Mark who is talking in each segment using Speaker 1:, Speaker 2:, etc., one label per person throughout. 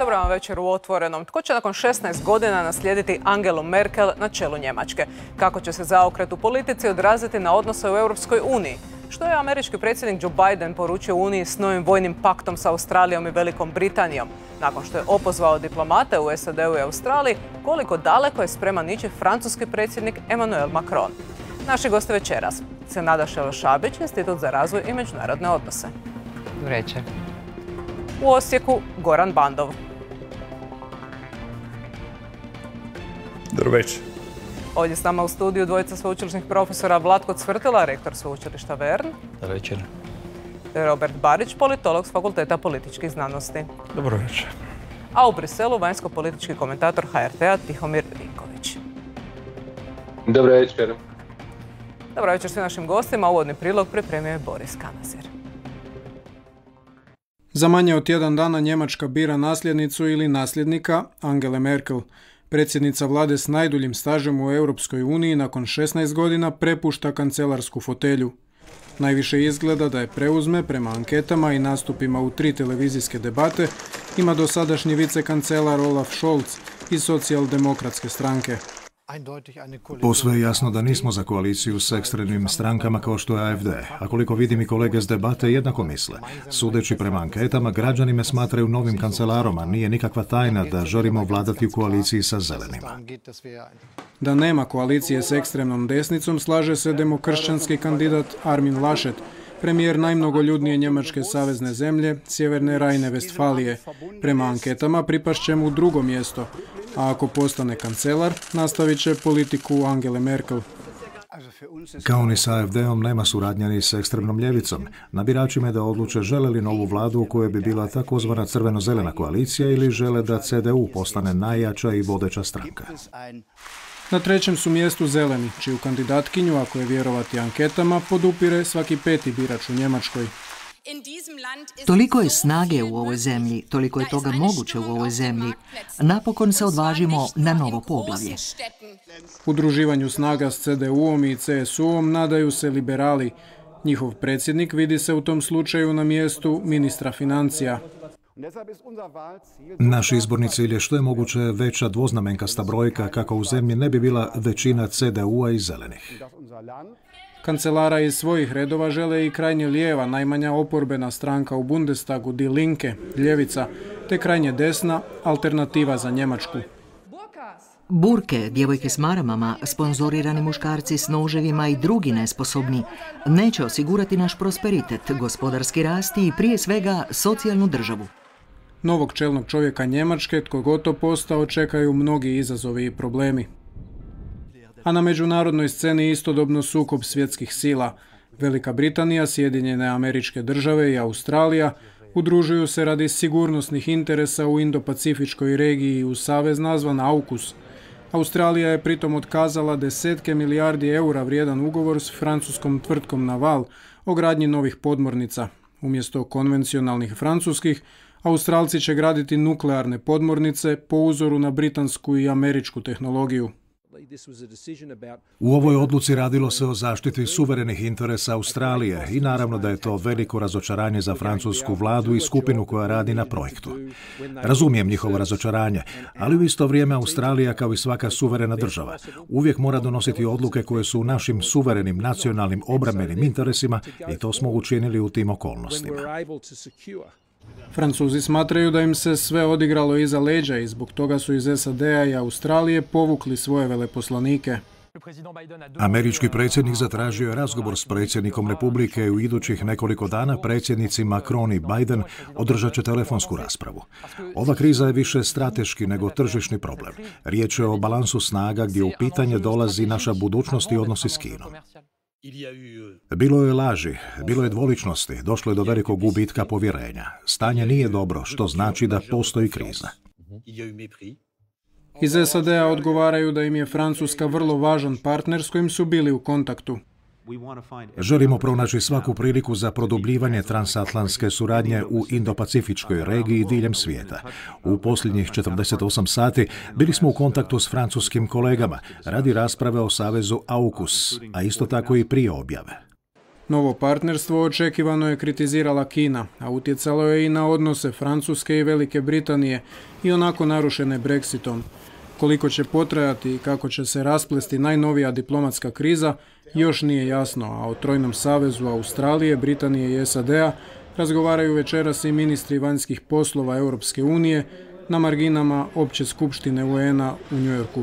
Speaker 1: Dobro vam večer u Otvorenom. Tko će nakon 16 godina naslijediti Angelu Merkel na čelu Njemačke? Kako će se zaokret u politici odraziti na odnose u Europskoj uniji? Što je američki predsjednik Joe Biden poručio Uniji s novim vojnim paktom sa Australijom i Velikom Britanijom? Nakon što je opozvao diplomate u SAD-u i Australiji, koliko daleko je spreman ići francuski predsjednik Emmanuel Macron? Naši gosti večeras: Senada Šelošabić, Institut za razvoj i međunarodne odnose.
Speaker 2: Dobro večer.
Speaker 1: U Osijeku Goran Bandov.
Speaker 3: Dobro večer.
Speaker 1: Ovdje s nama u studiju dvojica sveučilišnih profesora: Vlatko Cvrtila, rektor sveučilišta Vern.
Speaker 3: Dobro večer.
Speaker 1: Robert Barić, politolog s Fakulteta političkih znanosti.
Speaker 3: Dobro večer.
Speaker 1: A u Briselu vanjsko-politički komentator HRT-a Tihomir Vinković.
Speaker 4: Dobro večer.
Speaker 1: Dobro večer svim našim gostima. Uvodni prilog pripremio je Boris Kanazir.
Speaker 5: Za manje od tjedan dana Njemačka bira nasljednicu ili nasljednika Angele Merkel. Predsjednica vlade s najduljim stažem u Europskoj uniji nakon 16 godina prepušta kancelarsku fotelju. Najviše izgleda da je preuzme prema anketama i nastupima u 3 televizijske debate ima dosadašnji vicekancelar Olaf Scholz iz socijaldemokratske stranke.
Speaker 6: Posve je jasno da nismo za koaliciju s ekstremnim strankama kao što je AfD, a koliko vidim i kolege s debate jednako misle. Sudeći prema anketama, građani me smatraju novim kancelarom, a nije nikakva tajna da želimo vladati u koaliciji sa zelenima.
Speaker 5: Da nema koalicije s ekstremnom desnicom slaže se demokršćanski kandidat Armin Laschet, premijer najmnogoljudnije njemačke savezne zemlje, Sjeverne Rajne-Vestfalije. Prema anketama pripašće mu drugo mjesto, a ako postane kancelar, nastavit će politiku Angele Merkel.
Speaker 6: Kao ni sa AfD-om nema suradnja ni s ekstremnom ljevicom. Na biračima je da odluče žele li novu vladu u kojoj bi bila takozvana crveno-zelena koalicija ili žele da CDU postane najjača i vodeća stranka.
Speaker 5: Na trećem su mjestu zeleni, čiju kandidatkinju, ako je vjerovati anketama, podupire svaki 5. birač u Njemačkoj.
Speaker 7: Toliko je snage u ovoj zemlji, toliko je toga moguće u ovoj zemlji. Napokon se odvažimo na novo poglavlje.
Speaker 5: Udruživanju snaga s CDU-om i CSU-om nadaju se liberali. Njihov predsjednik vidi se u tom slučaju na mjestu ministra financija.
Speaker 6: Naš izborni cilj je što je moguće veća dvoznamenkasta brojka kako u zemlji ne bi bila većina CDU-a i zelenih.
Speaker 5: Kancelara iz svojih redova žele i krajnje lijeva, najmanja oporbena stranka u Bundestagu Die Linke, ljevica, te krajnje desna, Alternativa za Njemačku.
Speaker 7: Burke, djevojke s maramama, sponzorirani muškarci s noževima i drugi nesposobni neće osigurati naš prosperitet, gospodarski rast i prije svega socijalnu državu.
Speaker 5: Novog čelnog čovjeka Njemačke, tko god to postao, čekaju mnogi izazovi i problemi. A na međunarodnoj sceni istodobno sukob svjetskih sila. Velika Britanija, Sjedinjene Američke Države i Australija udružuju se radi sigurnosnih interesa u Indo-Pacifičkoj regiji u savez nazvan AUKUS. Australija je pritom otkazala desetke milijardi eura vrijedan ugovor s francuskom tvrtkom Naval o gradnji novih podmornica. Umjesto konvencionalnih francuskih, Australci će graditi nuklearne podmornice po uzoru na britansku i američku tehnologiju.
Speaker 6: U ovoj odluci radilo se o zaštiti suverenih interesa Australije i naravno da je to veliko razočaranje za francusku vladu i skupinu koja radi na projektu. Razumijem njihovo razočaranje, ali u isto vrijeme Australija, kao i svaka suverena država, uvijek mora donositi odluke koje su u našim suverenim nacionalnim obrambenim interesima i to smo učinili u tim okolnostima.
Speaker 5: Francuzi smatraju da im se sve odigralo iza leđa i zbog toga su iz SAD-a i Australije povukli svoje veleposlanike.
Speaker 6: Američki predsjednik zatražio je razgovor s predsjednikom Republike i u idućih nekoliko dana predsjednici Macron i Biden održat će telefonsku raspravu. Ova kriza je više strateški nego tržišni problem. Riječ je o balansu snaga gdje u pitanje dolazi naša budućnost i odnosi s Kinom. Bilo je laži, bilo je dvoličnosti, došlo je do velikog gubitka povjerenja. Stanje nije dobro, što znači da postoji kriza.
Speaker 5: Iz SAD-a odgovaraju da im je Francuska vrlo važan partner s kojim su bili u kontaktu.
Speaker 6: Želimo pronaći svaku priliku za produbljivanje transatlantske suradnje u Indo-Pacifičkoj regiji diljem svijeta. U posljednjih 48 sati bili smo u kontaktu s francuskim kolegama radi rasprave o savezu AUKUS, a isto tako i prije objave.
Speaker 5: Novo partnerstvo očekivano je kritizirala Kina, a utjecalo je i na odnose Francuske i Velike Britanije, i onako narušene Brexitom. Koliko će potrajati i kako će se rasplesti najnovija diplomatska kriza, još nije jasno, a o trojnom savezu Australije, Britanije i SAD-a razgovaraju večeras i ministri vanjskih poslova Europske unije na marginama Opće skupštine UN-a u Njujorku.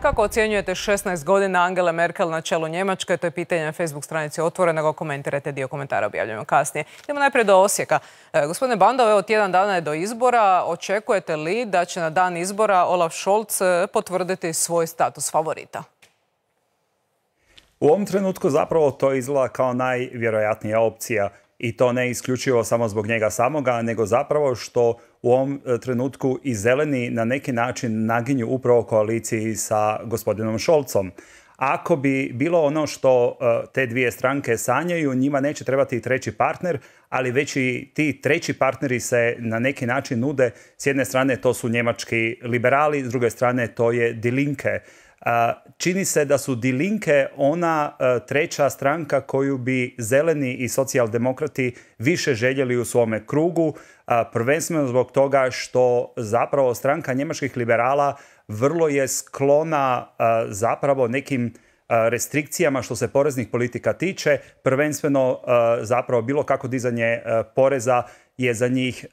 Speaker 1: Kako ocjenjujete 16 godina Angele Merkel na čelu Njemačke? To je pitanje na Facebook stranici Otvorenog. Komentirajte, dio komentara objavljujemo kasnije. Idemo najprije do Osijeka. Gospodine Bandov, evo tjedan dana je do izbora. Očekujete li da će na dan izbora Olaf Scholz potvrditi svoj status favorita?
Speaker 2: U ovom trenutku zapravo to izgleda kao najvjerojatnija opcija. I to ne isključivo samo zbog njega samoga, nego zapravo što u ovom trenutku i zeleni na neki način naginju upravo koaliciji sa gospodinom Scholzom. Ako bi bilo ono što te dvije stranke sanjaju, njima neće trebati treći partner, ali već i ti treći partneri se na neki način nude. S jedne strane to su njemački liberali, s druge strane to je Die Linke. Čini se da su Die Linke ona treća stranka koju bi zeleni i socijaldemokrati više željeli u svome krugu, prvenstveno zbog toga što zapravo stranka njemačkih liberala vrlo je sklona zapravo nekim restrikcijama što se poreznih politika tiče, prvenstveno zapravo bilo kako dizanje poreza je za njih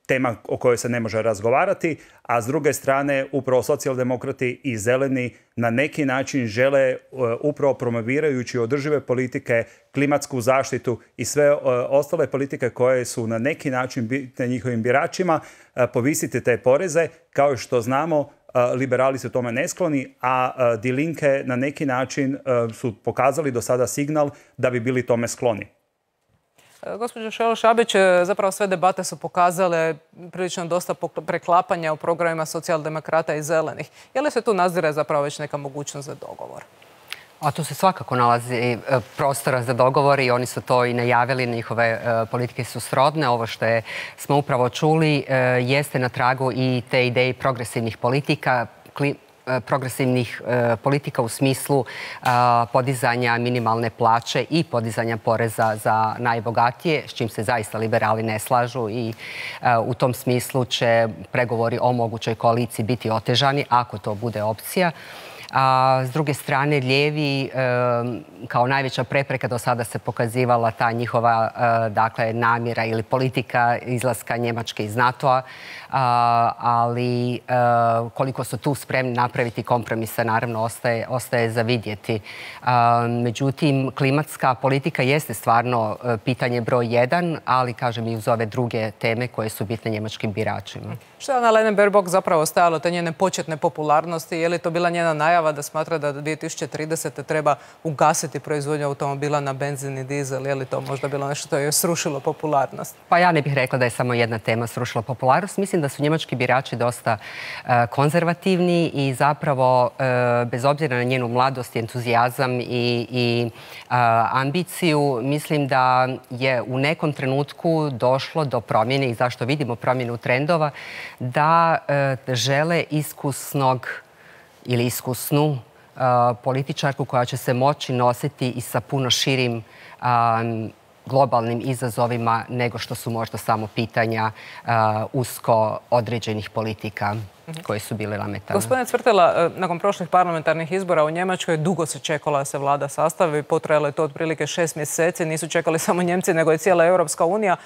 Speaker 2: tema o kojoj se ne može razgovarati, a s druge strane upravo socijaldemokrati i zeleni na neki način žele upravo promovirajući održive politike, klimatsku zaštitu i sve ostale politike koje su na neki način bitne njihovim biračima, povisiti te poreze. Kao što znamo, liberali su tome neskloni, a Die Linke na neki način su pokazali do sada signal da bi bili tome skloni.
Speaker 1: Gospođo Šelo-Šabić, zapravo sve debate su pokazale prilično dosta preklapanja u programima socijaldemokrata i zelenih. Je li se tu nazire zapravo već neka mogućnost za dogovor?
Speaker 8: A tu se svakako nalazi prostora za dogovor i oni su to i najavili, njihove politike su srodne. Ovo što smo upravo čuli jeste na tragu i te ideje progresivnih politika, progresivnih politika u smislu podizanja minimalne plaće i podizanja poreza za najbogatije, s čim se zaista liberali ne slažu i u tom smislu će pregovori o mogućoj koaliciji biti otežani ako to bude opcija. A s druge strane, lijevi kao najveća prepreka do sada se pokazivala ta njihova namjera ili politika izlaska Njemačke iz NATO-a, ali koliko su tu spremni napraviti kompromise, naravno ostaje za vidjeti. Međutim, klimatska politika jeste stvarno pitanje broj 1, ali kažem i uz ove druge teme koje su bitne njemačkim biračima.
Speaker 1: Što je Annalena Baerbock zapravo stajalo te njene početne popularnosti? Je li to bila njena najava da smatra da do 2030. treba ugasiti proizvodnju automobila na benzin i dizel? Je li to možda bilo nešto što je srušilo popularnost?
Speaker 8: Pa ja ne bih rekla da je samo jedna tema srušila popularnost. Mislim da su njemački birači dosta konzervativni i zapravo bez obzira na njenu mladost, entuzijazam i ambiciju, mislim da je u nekom trenutku došlo do promjene i zašto vidimo promjenu trendova, da žele iskusnog ili iskusnu političarku koja će se moći nositi i sa puno širim globalnim izazovima nego što su možda samo pitanja usko određenih politika koje su bile nametane.
Speaker 1: Gospodine Cvrtela, nakon prošlih parlamentarnih izbora u Njemačkoj dugo se čekala da se vlada sastavi. Potrajalo je to otprilike 6 mjeseci. Nisu čekali samo Njemci, nego i cijela Europska unija.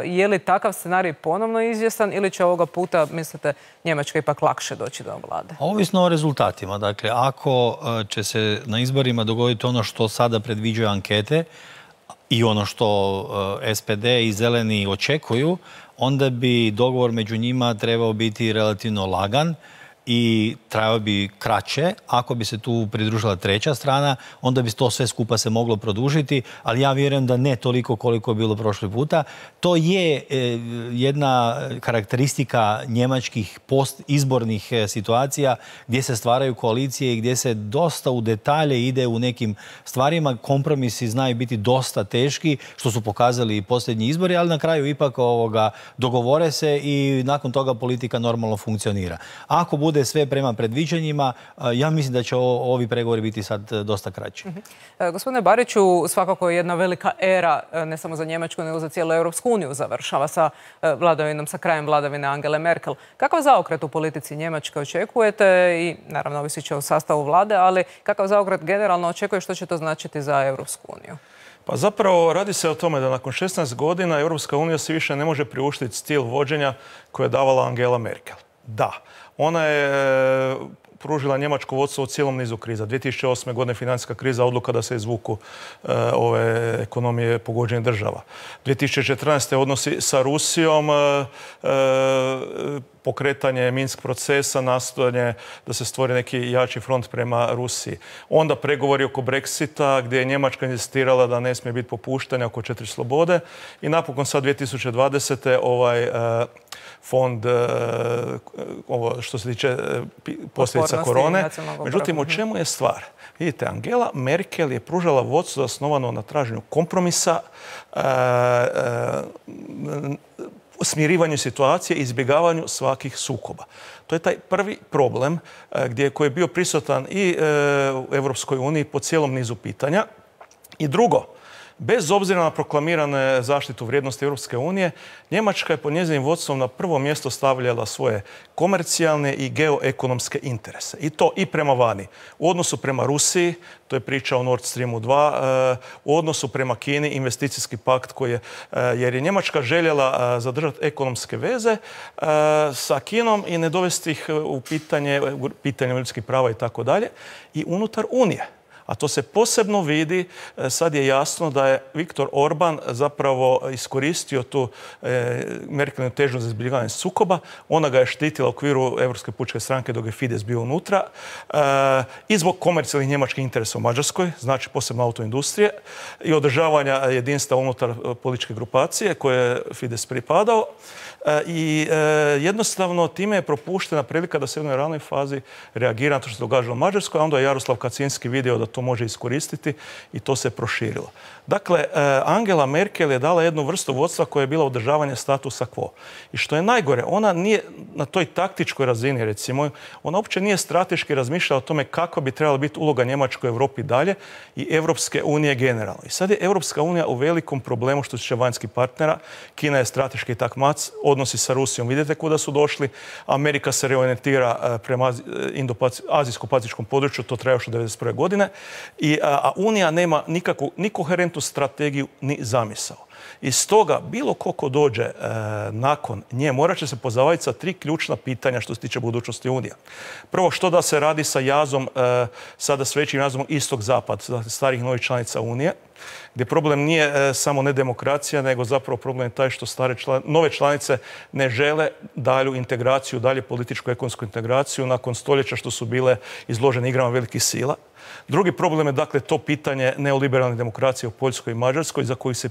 Speaker 1: Je li takav scenarij ponovno izvjestan ili će ovoga puta, mislite, Njemačka ipak lakše doći do vlade?
Speaker 9: Ovisno o rezultatima. Dakle, ako će se na izborima dogoditi ono što sada predviđaju ankete i ono što SPD i zeleni očekuju, onda bi dogovor među njima trebao biti relativno lagan i trajao bi kraće. Ako bi se tu pridružila treća strana, onda bi to sve skupa se moglo produžiti, ali ja vjerujem da ne toliko koliko je bilo prošli puta. To je jedna karakteristika njemačkih postizbornih situacija gdje se stvaraju koalicije i gdje se dosta u detalje ide u nekim stvarima. Kompromisi znaju biti dosta teški, što su pokazali i posljednji izbori, ali na kraju ipak dogovore se i nakon toga politika normalno funkcionira. Ako bude bude sve prema predviđanjima, ja mislim da će ovi pregovori biti sad dosta kraći.
Speaker 1: Gospodine Bariću, svakako je jedna velika era, ne samo za Njemačku, nego za cijelu Europsku uniju završava sa krajem vladavine Angele Merkel. Kakav zaokret u politici Njemačke očekujete i naravno ovisit će o sastavu vlade, ali kakav zaokret generalno očekuje, što će to značiti za Europsku uniju?
Speaker 3: Pa zapravo radi se o tome da nakon 16 godina Europska unija se više ne može priuštiti stil vođenja koje je davala Angela Merkel. Da, ona je pružila njemačko vodstvo u cijelom nizu kriza. 2008. godine financijska kriza, odluka da se izvuku ove ekonomije pogođenih država. 2014. odnosi sa Rusijom, pokretanje Minsk procesa, nastojanje da se stvori neki jači front prema Rusiji. Onda pregovori oko Brexita gdje je Njemačka inzistirala da ne smije biti popuštanja oko 4 slobode i napokon sad 2020. ovaj fond ovo što se tiče posljedica korone. Međutim, o čemu je stvar? Vidite, Angela Merkel je pružala vodstvo zasnovano na traženju kompromisa, smirivanju situacije i izbjegavanju svakih sukoba. To je taj prvi problem koji je bio prisutan i u Europskoj uniji po cijelom nizu pitanja. I drugo, bez obzira na proklamirane zaštitu vrijednosti Europske unije, Njemačka je pod njezinim vodstvom na prvo mjesto stavljala svoje komercijalne i geoekonomske interese. I to i prema vani. U odnosu prema Rusiji, to je priča o Nord Streamu 2, u odnosu prema Kini, investicijski pakt koji je, jer je Njemačka željela zadržati ekonomske veze sa Kinom i ne dovesti ih u pitanje ljudskih prava i tako dalje, i unutar Unije. A to se posebno vidi, sad je jasno da je Viktor Orban zapravo iskoristio tu Merkelinu težnju za izbjegavanje sukoba. Ona ga je štitila u okviru Europske pučke stranke dok je Fidesz bio unutra. I zbog komercijalnih njemačkih interesa u Mađarskoj, znači posebno autoindustrije, i održavanja jedinstva unutar političke grupacije koje je Fidesz pripadao. I jednostavno time je propuštena prilika da se u jednoj ranoj fazi reagira na to što se događa u Mađarskoj, a onda je Jaroslav Kaczynski vidio da to može iskoristiti i to se proširilo. Dakle, Angela Merkel je dala jednu vrstu vodstva koja je bila održavanje statusa quo. I što je najgore, ona nije na toj taktičkoj razini, recimo, ona uopće nije strateški razmišljala o tome kako bi trebala biti uloga Njemačkoj u Europi dalje i Europske unije generalno. I sad je Europska unija u velikom problemu što se tiče vanjskih partnera. Kina je strateški takmac, odnosi sa Rusijom vidite kuda su došli. Amerika se reorientira prema azijsko-pacifičkom području, to traje još od 1991. godine. A Unija nema ni koherentnu strategiju, ni zamisao. I stoga, bilo ko dođe nakon nje, morat će se pozabaviti sa 3 ključna pitanja što se tiče budućnosti Unije. Prvo, što da se radi sa jazom, sada s većim jazom istok-zapad, starih novih članica Unije, gdje problem nije samo nedemokracija, nego zapravo problem je taj što nove članice ne žele dalju integraciju, dalje političku ekonomsku integraciju nakon stoljeća što su bile izložene igrama velikih sila. Drugi problem je dakle to pitanje neoliberalne demokracije u Poljskoj i Mađarskoj, za koju se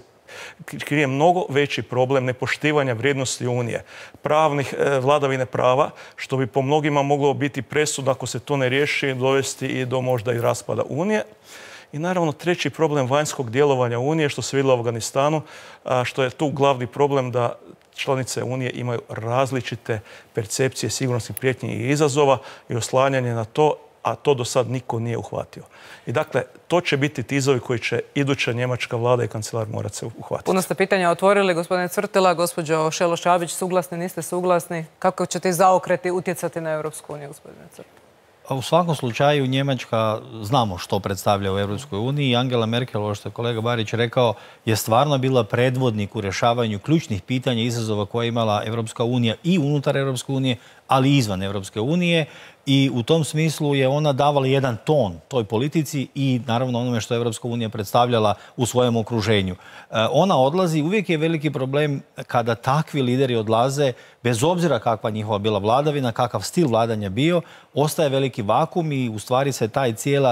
Speaker 3: krije mnogo veći problem nepoštivanja vrijednosti Unije, vladavine prava, što bi po mnogima moglo biti presudno ako se to ne riješi, dovesti i do možda i raspada Unije. I naravno treći problem vanjskog djelovanja Unije, što se vidjelo u Afganistanu, što je tu glavni problem da članice Unije imaju različite percepcije sigurnosnih prijetnji i izazova i oslanjanje na to, a to do sad niko nije uhvatio. I dakle, to će biti ti izazovi koji će iduća njemačka vlada i kancelar morati se uhvatiti.
Speaker 1: Puno ste pitanja otvorili, gospodine Cvrtila, gospođo Šeloš-Šabić, suglasni, niste suglasni? Kako će ti zaokreti utjecati na Europsku uniju, gospodine Cvrtila?
Speaker 9: U svakom slučaju Njemačka, znamo što predstavlja u Europskoj uniji, i Angela Merkel, ovo što je kolega Barić rekao, je stvarno bila predvodnik u rješavanju ključnih pitanja i izazova koje je imala Europska unija i unutar Europske unije, ali i izvan Europske unije. I u tom smislu je ona davala jedan ton toj politici i naravno onome što je Europska unija predstavljala u svojem okruženju. Ona odlazi, uvijek je veliki problem kada takvi lideri odlaze, bez obzira kakva njihova bila vladavina, kakav stil vladanja bio, ostaje veliki vakum i u stvari se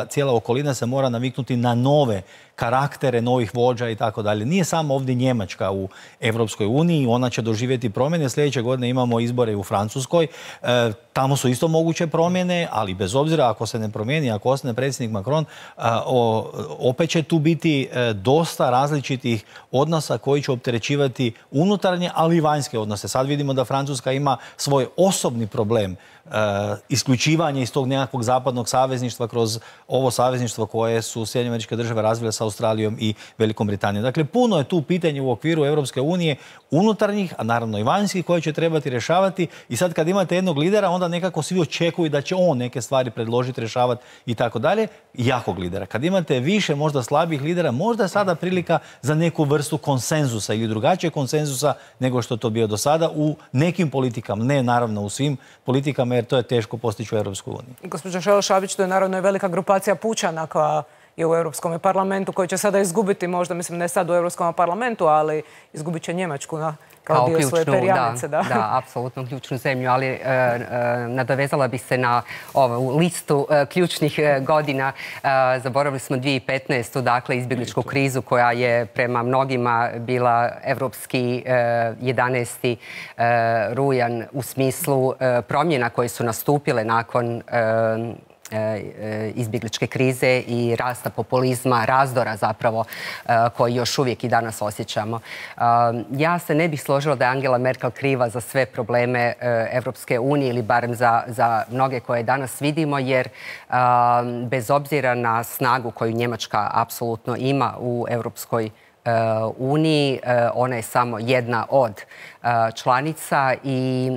Speaker 9: cijela okolina se mora naviknuti na nove karaktere, novih vođa i tako dalje. Nije samo ovdje Njemačka u Europskoj uniji, ona će doživjeti promjene. Sljedeće godine imamo izbore u Francuskoj, tamo su isto moguće promjene. promjene, ali bez obzira ako se ne promijeni, ako ostane predsjednik Macron, opet će tu biti dosta različitih odnosa koji će opterećivati unutarnje, ali i vanjske odnose. Sad vidimo da Francuska ima svoj osobni problem isključivanje iz tog nekakvog zapadnog savezništva kroz ovo savezništvo koje su Sjedinjene Američke Države razvile sa Australijom i Velikom Britanijom. Dakle, puno je tu pitanje u okviru Europske unije unutarnjih, a naravno i vanjskih, koje će trebati rješavati. I sad kad imate jednog lidera, onda nekako svi očekuju da će on neke stvari predložiti, rješavati i tako dalje. Jakog lidera. Kad imate više možda slabih lidera, možda je sada prilika za neku vrstu konsenzusa ili drugačijeg konsenzusa nego što to bio do sada u nekim politikama. Ne naravno u svim politikama, jer to je teško postići u Europskoj uniji.
Speaker 1: Gospođo Šelo-Šabić, to je naravno i velika grupacija pučana koja je u Europskom parlamentu, koji će sada izgubiti, možda, mislim, ne sad u Europskom parlamentu, ali izgubit će Njemačku kao dio svoje perjanice.
Speaker 8: Da, apsolutno ključnu zemlju, ali nadovezala bi se na ovu listu ključnih godina. Zaboravili smo 2015. dakle, izbjegličku krizu koja je prema mnogima bila evropski 11. rujan u smislu promjena koje su nastupile nakon izbjegličke krize i rasta populizma, razdora zapravo koji još uvijek i danas osjećamo. Ja se ne bih složila da je Angela Merkel kriva za sve probleme Evropske unije ili barem za mnoge koje danas vidimo, jer bez obzira na snagu koju Njemačka apsolutno ima u Europskoj uniji, ona je samo jedna od članica i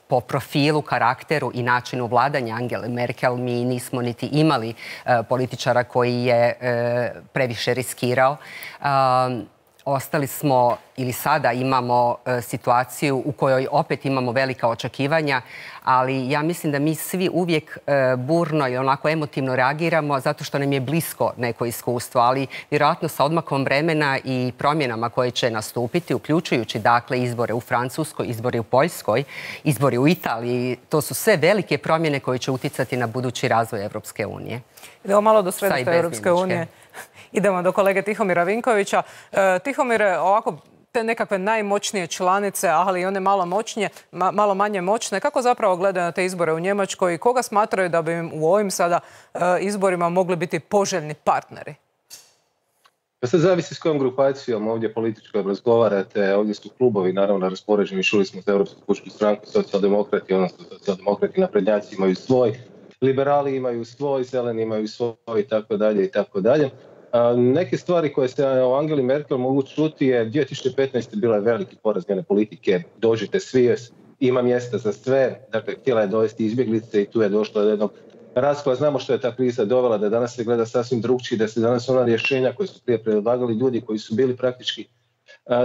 Speaker 8: po profilu, karakteru i načinu vladanja Angele Merkel mi nismo niti imali političara koji je previše riskirao. Ostali smo ili sada imamo situaciju u kojoj opet imamo velika očekivanja, ali ja mislim da mi svi uvijek burno i onako emotivno reagiramo zato što nam je blisko neko iskustvo, ali vjerojatno sa odmakom vremena i promjenama koje će nastupiti, uključujući dakle izbore u Francuskoj, izbori u Poljskoj, izbori u Italiji, to su sve velike promjene koje će utjecati na budući razvoj Evropske unije.
Speaker 1: Idemo malo do središta Evropske unije. Idemo do kolege Tihomira Vinkovića. Tihomire, ovako te nekakve najmoćnije članice, ali i one malo manje moćne, kako zapravo gledaju na te izbore u Njemačkoj i koga smatraju da bi im u ovim sada izborima mogli biti poželjni partneri?
Speaker 4: Pa sad zavisi s kojom grupacijom ovdje političkom razgovarate. Ovdje su klubovi naravno raspoređeni, čuli smo za Europsku pučku stranku, socijaldemokrati, odnosno socijaldemokrati naprednjaci imaju svoj, liberali imaju svoj, zeleni imaju svoj i tako dalje i tako dalje. Neke stvari koje se o Angeli Merkel mogu čuti je 2015. bila je veliki poraz njene politike, dođite svi, ima mjesta za sve, dakle htjela je dovesti izbjeglice i tu je došlo do jednog raskola. Znamo što je ta kriza dovela, da danas se gleda sasvim drugčije, da se danas ona rješenja koje su prije predlagali ljudi koji su bili praktički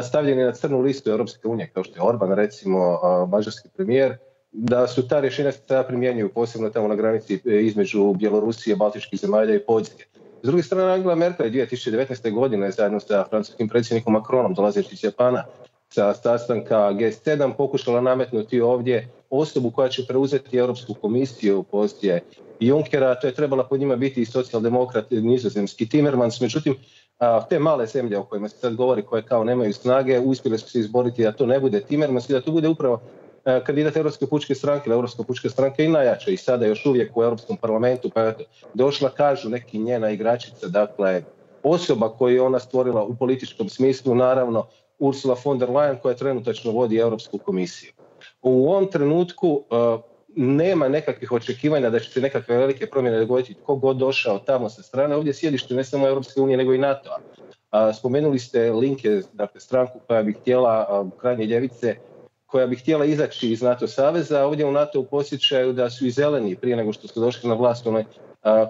Speaker 4: stavljeni na crnu listu Europske unije, kao što je Orban, recimo mađarski premijer, da su ta rješenja se sada primjenjuju, posebno tamo na granici između Bjelorusije, Baltičkih zemalja i Poljske. S druge strane, Angela Merkel 2019. godine zajedno sa francuskim predsjednikom Macronom, dolazeći iz Japana, sa sastanka G7 pokušala nametnuti ovdje osobu koja će preuzeti Europsku komisiju poslije Junckera. To je trebala pod njima biti i socijaldemokrat nizozemski Timmermans. Međutim, te male zemlje o kojima se sad govori, koje kao nemaju snage, uspjele su se izboriti da to ne bude Timmermans i da to bude upravo kandidat Europske pučke stranke. Europska pučka stranka i najjača i sada još uvijek u Europskom parlamentu, pa je došla, kažu neki, njena igračica, dakle osoba koju je ona stvorila u političkom smislu, naravno Ursula von der Leyen, koja trenutačno vodi Europsku komisiju. U ovom trenutku nema nekakvih očekivanja da će se nekakve velike promjene dogoditi tko god došao tamo sa strane. Ovdje sjedište ne samo Europske unije nego i NATO-a. Spomenuli ste Linke, dakle stranku koja bi htjela, krajnje ljevice, koja bi htjela izaći iz NATO saveza. Ovdje u NATO posjećaju da su i zeleni prije nego što su došli na vlast u onoj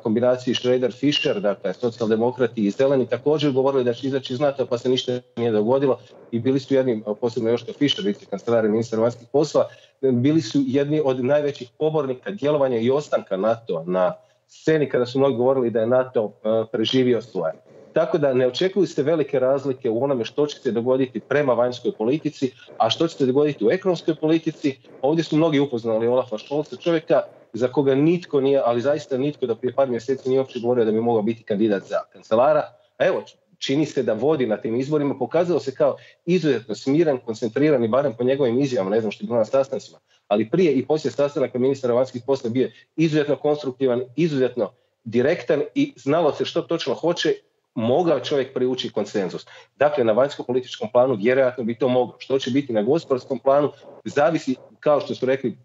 Speaker 4: kombinaciji Schroeder-Fischer, dakle socijaldemokrati i zeleni, također govorili da će izaći iz NATO, pa se ništa nije dogodilo i bili su jedni, posebno Joška Fischer, vicekancelar i ministar vanjskih poslova, bili su jedni od najvećih pobornika djelovanja i ostanka NATO na sceni kada su mnogi govorili da je NATO preživio svoje. Tako da ne očekuju se velike razlike u onome što će se dogoditi prema vanjskoj politici, a što će se dogoditi u ekonomskoj politici. Ovdje su mnogi upoznali Olafa Scholza, čovjeka za koga nitko nije, ali zaista nitko, da prije par mjeseci nije uopće govorio da bi mogao biti kandidat za kancelara. A evo, čini se da vodi na tim izborima, pokazao se kao izuzetno smiren, koncentriran i barem po njegovim izjavama, ne znam što je bilo na sastancima, ali prije i poslije sastanaka ministara vanjskih poslova bio izuzetno konstruktivan, izuzetno direktan i znalo se što točno hoće, mogao čovjek privući konsenzus. Dakle, na vanjsko-političkom planu vjerojatno bi to moglo. Što će biti na gospodarskom planu, zavisi, kao što su rekli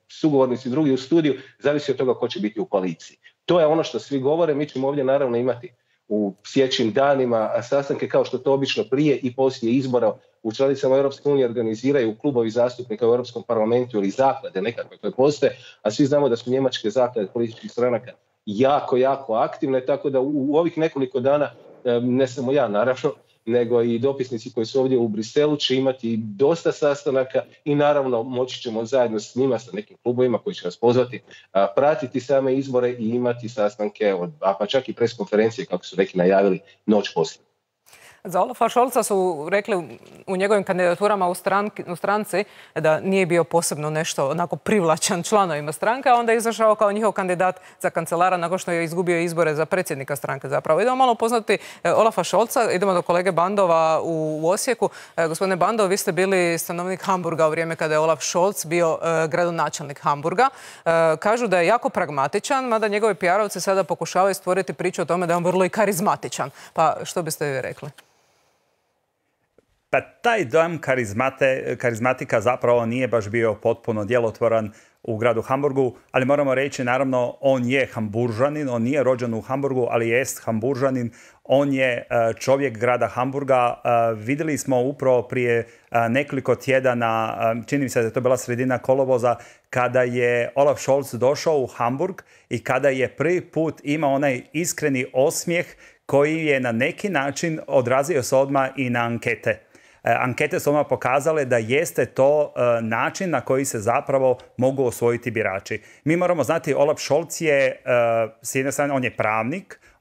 Speaker 4: sugovornici drugi u studiju, zavisi od toga ko će biti u koaliciji. To je ono što svi govore, mi ćemo ovdje naravno imati u sljedećim danima sastanke kao što to obično prije i poslije izbora u članicama Europske unije organiziraju klubovi zastupnika u Europskom parlamentu ili zaklade nekakve koje postoje, a svi znamo da su njemačke zaklade političkih stranaka jako aktivne, tako da u ovih nekoliko dana, ne samo ja naravno, nego i dopisnici koji su ovdje u Briselu će imati dosta sastanaka i naravno moći ćemo zajedno s njima, sa nekim klubovima koji će nas pozvati, pratiti same izbore i imati sastanke, pa čak i preskonferencije kako su neki najavili noć poslije.
Speaker 1: Za Olafa Scholza su rekli u njegovim kandidaturama u stranci da nije bio posebno nešto onako privlačan članovima stranke, a onda je izašao kao njihov kandidat za kancelara nakon što je izgubio izbore za predsjednika stranke zapravo. Idemo malo poznati Olafa Scholza, idemo do kolege Bandova u Osijeku. Gospodine Bandov, vi ste bili stanovnik Hamburga u vrijeme kada je Olaf Scholz bio gradonačelnik Hamburga. Kažu da je jako pragmatičan, mada njegovi PR-ovci sada pokušavaju stvoriti priču o tome da je on vrlo i karizmatičan. Pa što biste vi rekli?
Speaker 2: Pa taj dojam karizmatika zapravo nije baš bio potpuno djelotvoran u gradu Hamburgu, ali moramo reći, naravno, on je Hamburžanin, on nije rođen u Hamburgu, ali jest Hamburžanin, on je čovjek grada Hamburga. Vidjeli smo upravo prije nekoliko tjedana, čini mi se da je to bila sredina kolovoza, kada je Olaf Scholz došao u Hamburg i kada je prvi put imao onaj iskreni osmijeh koji je na neki način odrazio se odmah i na ankete. Ankete su odmah pokazale da jeste to način na koji se zapravo mogu osvojiti birači. Mi moramo znati, Olaf Scholz je, s jedne strane,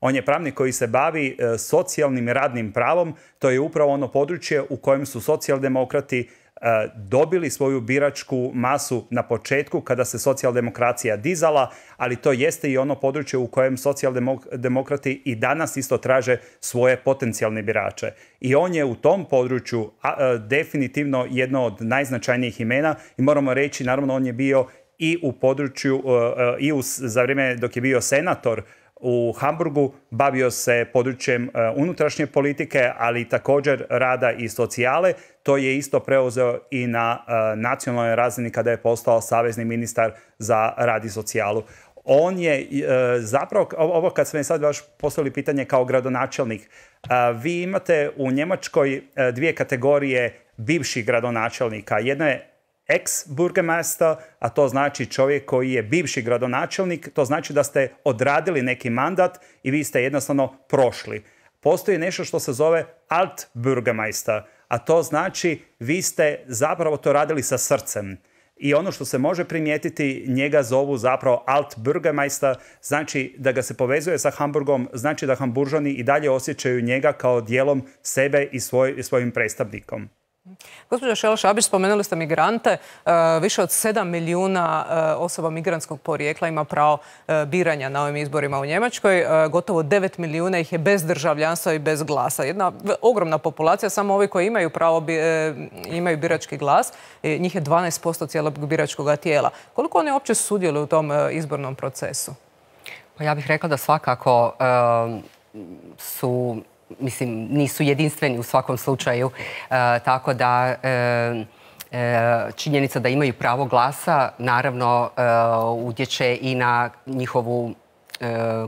Speaker 2: on je pravnik koji se bavi socijalnim i radnim pravom. To je upravo ono područje u kojem su socijaldemokrati dobili svoju biračku masu na početku kada se socijaldemokracija dizala, ali to jeste i ono područje u kojem socijaldemokrati i danas isto traže svoje potencijalne birače. I on je u tom području definitivno jedno od najznačajnijih imena i moramo reći, naravno, on je bio i u području, za vrijeme dok je bio senator u Hamburgu, bavio se područjem unutrašnje politike, ali također rada i socijale. To je isto preuzeo i na nacionalnoj razini kada je postao savezni ministar za rad i socijalu. On je zapravo, ovo kad smo sad baš postavili pitanje kao gradonačelnik, vi imate u Njemačkoj dvije kategorije bivših gradonačelnika. Jedna je ex-burgermeister, a to znači čovjek koji je bivši gradonačelnik, to znači da ste odradili neki mandat i vi ste jednostavno prošli. Postoji nešto što se zove alt-burgermeister, a to znači vi ste zapravo to radili sa srcem. I ono što se može primijetiti, njega zovu zapravo alt-burgermeister, znači da ga se povezuje sa Hamburgom, znači da Hamburžani i dalje osjećaju njega kao dijelom sebe i svojim predstavnikom.
Speaker 1: Gospođo Šel-Šabić, spomenuli ste migrante. Više od 7 milijuna osoba migrantskog porijekla ima pravo biranja na ovim izborima u Njemačkoj. Gotovo 9 milijuna ih je bez državljanstva i bez glasa. Jedna ogromna populacija, samo ovi koji imaju pravo, imaju birački glas. Njih je 12% cijelog biračkog tijela. Koliko oni uopće sudjeluju u tom izbornom procesu?
Speaker 8: Pa ja bih rekla da svakako su... Mislim, nisu jedinstveni u svakom slučaju, tako da činjenica da imaju pravo glasa naravno utječe i na njihovu,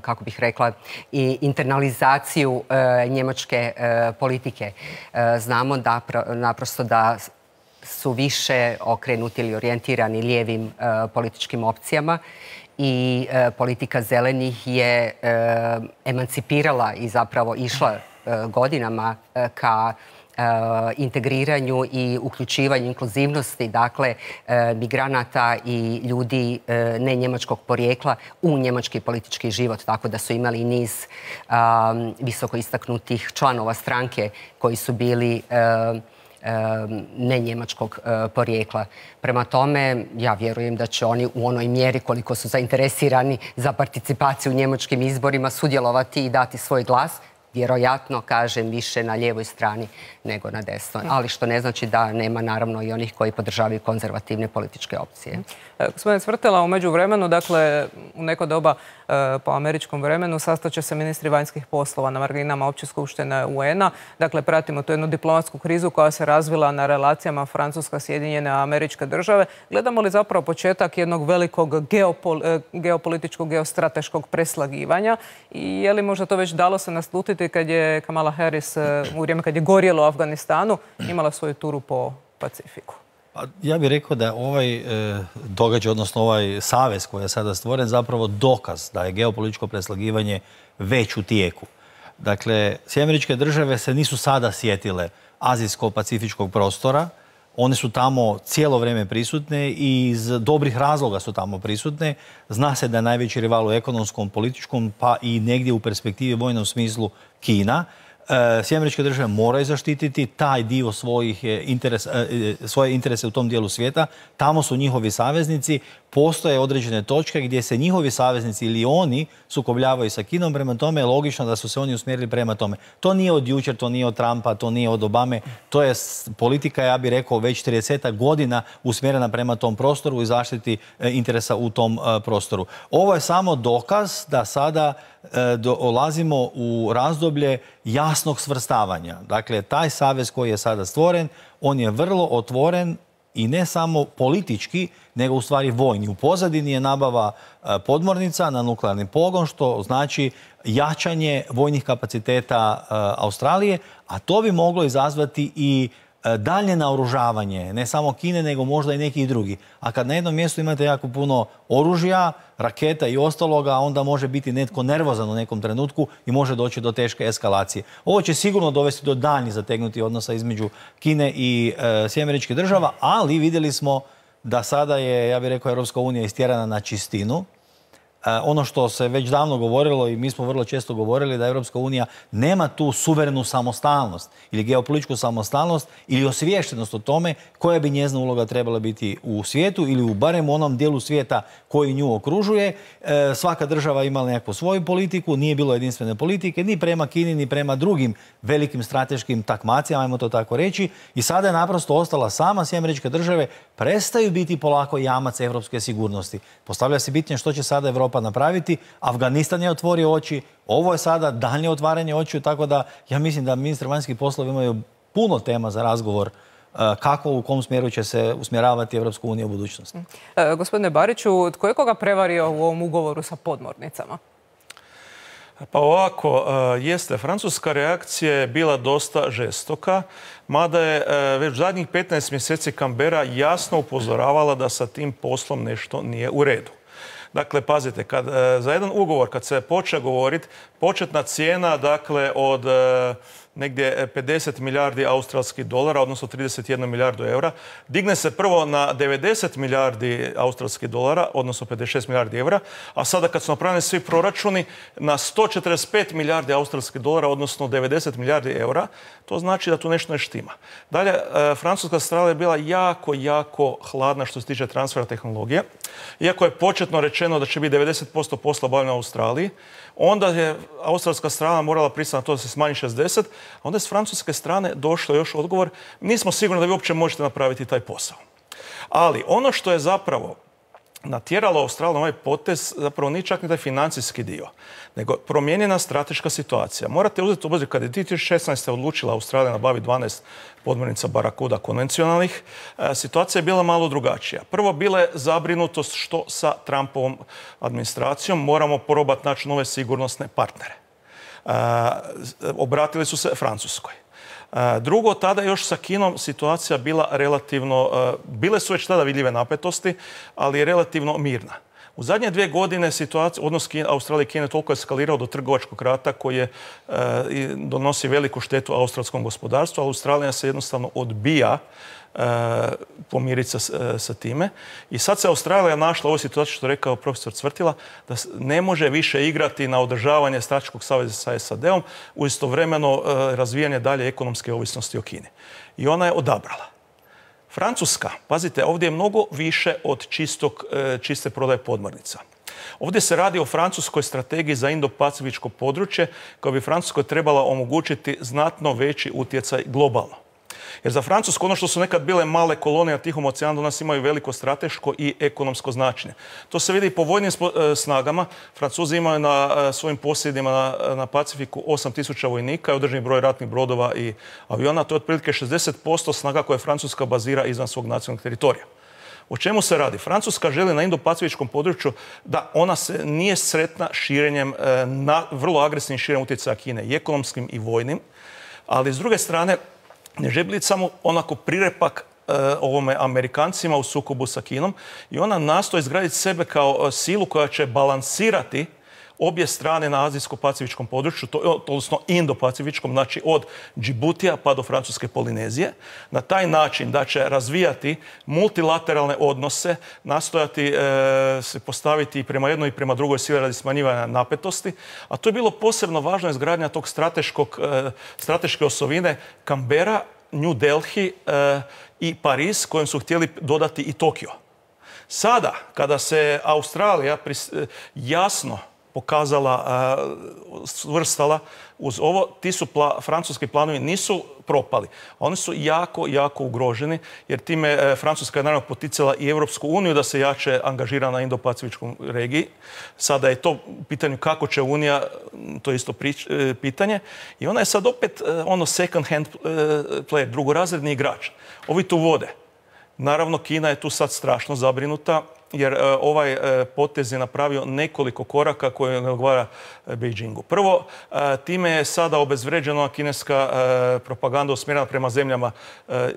Speaker 8: kako bih rekla, i internalizaciju njemačke politike. Znamo da naprosto da su više okrenuti ili orijentirani lijevim političkim opcijama i politika zelenih je emancipirala i zapravo išla godinama ka integriranju i uključivanju inkluzivnosti, dakle, migranata i ljudi ne njemačkog porijekla u njemački politički život, tako da su imali niz visoko istaknutih članova stranke koji su bili ne njemačkog porijekla. Prema tome, ja vjerujem da će oni u onoj mjeri koliko su zainteresirani za participaciju u njemačkim izborima sudjelovati i dati svoj glas. vjerojatno, kažem, više na lijevoj strani nego na desnoj. Ali što ne znači da nema naravno i onih koji podržavaju konzervativne političke opcije.
Speaker 1: Gospodine Cvrtela, u međuvremenu, dakle, u neko doba po američkom vremenu sastaće se ministri vanjskih poslova na marginama Opće skupštine UN-a. Dakle, pratimo tu jednu diplomatsku krizu koja se razvila na relacijama Francuska-Sjedinjene Američke Države. Gledamo li zapravo početak jednog velikog geopolitičkog, geostrateškog preslagivanja i je li možda to već dalo se naslutiti kad je Kamala Harris u vrijeme kad je gorjelo u Afganistanu imala svoju turu po Pacifiku?
Speaker 9: Ja bih rekao da ovaj događaj, odnosno ovaj savez koji je sada stvoren, zapravo dokaz da je geopolitičko preslagivanje već u tijeku. Dakle, Sjedinjene Američke Države se nisu sada sjetile azijsko-pacifičkog prostora. One su tamo cijelo vrijeme prisutne i iz dobrih razloga su tamo prisutne. Zna se da je najveći rival u ekonomskom, političkom, pa i negdje u perspektivi vojnom smislu Kina. Sjedinjene Američke Države moraju zaštititi taj dio svoje interese u tom dijelu svijeta. Tamo su njihovi saveznici. Postoje određene točke gdje se njihovi saveznici ili oni sukobljavaju sa Kinom. Prema tome je logično da su se oni usmjerili prema tome. To nije od jučer, to nije od Trumpa, to nije od Obame. To je politika, ja bih rekao, već 30 godina usmjerena prema tom prostoru i zaštiti interesa u tom prostoru. Ovo je samo dokaz da sada dolazimo u razdoblje jasnog svrstavanja. Dakle, taj savez koji je sada stvoren, on je vrlo otvoren i ne samo politički, nego u stvari vojni. U pozadini je nabava podmornica na nuklearni pogon, što znači jačanje vojnih kapaciteta Australije, a to bi moglo izazvati i daljnje naoružavanje, ne samo Kine, nego možda i nekih drugih. A kad na jednom mjestu imate jako puno oružja, raketa i ostaloga, onda može biti netko nervozan u nekom trenutku i može doći do teške eskalacije. Ovo će sigurno dovesti do daljnjih zategnutih odnosa između Kine i Sjedinjenih Američkih Država, ali vidjeli smo da sada je, ja bih rekao, Europska unija istjerana na čistinu. Ono što se već davno govorilo i mi smo vrlo često govorili da Europska unija nema tu suverenu samostalnost ili geopolitičku samostalnost ili osviještenost o tome koja bi njezina uloga trebala biti u svijetu ili u barem u onom dijelu svijeta koji nju okružuje. Svaka država imala nekakvu svoju politiku, nije bilo jedinstvene politike ni prema Kini ni prema drugim velikim strateškim takmacijama, ajmo to tako reći, i sada je naprosto ostala sama. Sjedinjene Američke Države prestaju biti polako jamac europske sigurnosti. Postavlja se pitanje što će sada Europa napraviti. Afganistan je otvorio oči, ovo je sada daljnje otvaranje očiju, tako da ja mislim da ministri vanjskih poslova imaju puno tema za razgovor kako, u kom smjeru će se usmjeravati Europska unija u budućnosti.
Speaker 1: Gospodine Bariću, tko je koga prevario u ovom ugovoru sa podmornicama?
Speaker 3: Pa ovako, jeste, francuska reakcija je bila dosta žestoka, mada je već zadnjih 15 mjeseci Canberra jasno upozoravala da sa tim poslom nešto nije u redu. Dakle, pazite, za jedan ugovor, kad se počne govoriti, početna cijena, dakle, od negdje 50 milijardi australskih dolara, odnosno 31 milijardu eura, digne se prvo na 90 milijardi australskih dolara, odnosno 56 milijardi eura, a sada kad su napravljeni svi proračuni na 145 milijardi australskih dolara, odnosno 90 milijardi eura, to znači da tu nešto ne štima. Dalje, francuska strana je bila jako hladna što se tiče transfera tehnologije. Iako je početno rečeno da će biti 90% posla obavljeno u Australiji, onda je australska strana morala pristati na to da se smanji 60%, a onda je s francuske strane došlo još odgovor, nismo sigurni da vi uopće možete napraviti taj posao. Ali ono što je zapravo natjeralo Australiju na ovaj potez, zapravo nije čak ni taj financijski dio, nego promijenjena strateška situacija. Morate uzeti u obzir, kada je 2016. odlučila Australija nabaviti 12 podmornica Barracuda konvencionalnih, situacija je bila malo drugačija. Prvo, bila je zabrinutost što sa Trumpovom administracijom moramo probati naći nove sigurnosne partnere. Obratili su se Francuskoj. Drugo, tada još sa Kinom situacija bila relativno, bile su već tada vidljive napetosti, ali je relativno mirna. U zadnje 2 godine odnos Australije i Kine toliko eskalirao do trgovačkog rata koji je donosi veliku štetu australskom gospodarstvu, a Australija se jednostavno odbija pomiriti sa time. I sad se Australija našla u ovoj situaciji, što je rekao profesor Cvrtila, da ne može više igrati na održavanje strateškog saveza sa SAD-om u istovremeno razvijanje dalje ekonomske ovisnosti o Kini. I ona je odabrala. Francuska, pazite, ovdje je mnogo više od čiste prodaje podmornica. Ovdje se radi o francuskoj strategiji za indo-pacifičko područje koja bi Francuskoj trebala omogućiti znatno veći utjecaj globalno. Jer za Francusku ono što su nekad bile male kolonije na Tihom oceanu danas imaju veliko strateško i ekonomsko značenje. To se vidi i po vojnim snagama. Francuzi imaju na svojim posjedima na Pacifiku 8.000 vojnika i određeni broj ratnih brodova i aviona. To je otprilike 60% snaga koje Francuska bazira izvan svog nacionalnog teritorija. O čemu se radi? Francuska želi na indo-pacifičkom području da ona se nije sretna širenjem, vrlo agresivnim širenjem utjecaja Kine, i ekonomskim i vojnim, ali s druge strane ne želi biti samo onako prirepak ovome Amerikancima u sukobu sa Kinom i ona nastoji izgraditi sebe kao silu koja će balansirati obje strane na azijsko-pacifičkom području, odnosno indo-pacifičkom, znači od Džibutija pa do Francuske Polinezije, na taj način da će razvijati multilateralne odnose, nastojati se postaviti i prema jednoj i prema drugoj sili radi smanjivanja napetosti, a to je bilo posebno važno izgradnja tog strateške osovine Canberra, New Delhi i Pariz, kojem su htjeli dodati i Tokio. Sada, kada se Australija jasno pokazala, svrstala uz ovo, ti su francuski planovi nisu propali. Oni su jako, jako ugroženi, jer time Francuska je naravno poticala i Europsku uniju da se jače angažira na indo-pacifičkom regiji. Sada je to pitanje kako će Unija, to je isto pitanje. I ona je sad opet second hand player, drugorazredni igrač. Ovi tu vode. Naravno, Kina je tu sad strašno zabrinuta, jer ovaj potez je napravio nekoliko koraka koje ne odgovara Beijingu. Prvo, time je sada obezvređena kineska propaganda usmjerena prema zemljama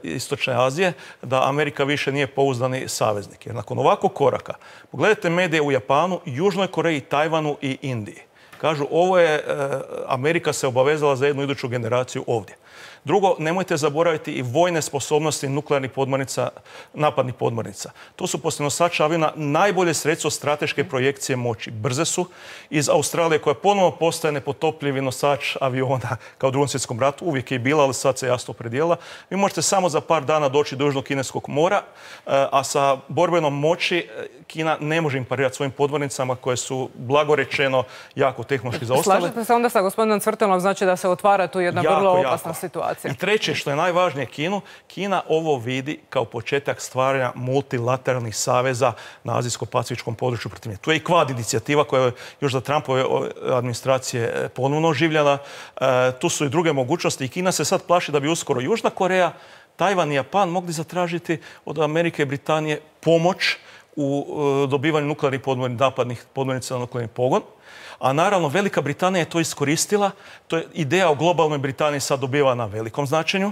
Speaker 3: Istočne Azije, da Amerika više nije pouzdani saveznik. Jer nakon ovakvog koraka, pogledajte medije u Japanu, Južnoj Koreji, Tajvanu i Indiji. Kažu, Amerika se obavezala za jednu iduću generaciju ovdje. Drugo, nemojte zaboraviti i vojne sposobnosti nuklearnih podmornica, napadnih podmornica. To su poslije nosača aviona najbolje sredstvo strateške projekcije moći. Brze su iz Australije koja ponovno postaje nepotopljivi nosač aviona kao u Drugom svjetskom ratu. Uvijek je i bila, ali sad se jasno opredijela. Vi možete samo za par dana doći do Južnog kineskog mora, a sa borbenom moći Kina ne može im parirati svojim podmornicama koje su, blagorečeno, jako tehnološki zaostale.
Speaker 1: Slažete se onda sa gospodinom Cvrtilom, znači da se otvara tu jedna vrlo opasna situacija?
Speaker 3: I treće, što je najvažnije Kina ovo vidi kao početak stvaranja multilateralnih saveza na azijsko-pacifičkom području protiv nje. Tu je i Quad inicijativa koja je još za Trumpove administracije ponovno oživljena. Tu su i druge mogućnosti i Kina se sad plaši da bi uskoro Južna Koreja, Tajvan i Japan mogli zatražiti od Amerike i Britanije pomoć u dobivanju nuklearnih napadnih podmornica na nuklearni pogon. A naravno, Velika Britanija je to iskoristila. To je ideja o globalnoj Britaniji sad dobiva na velikom značenju.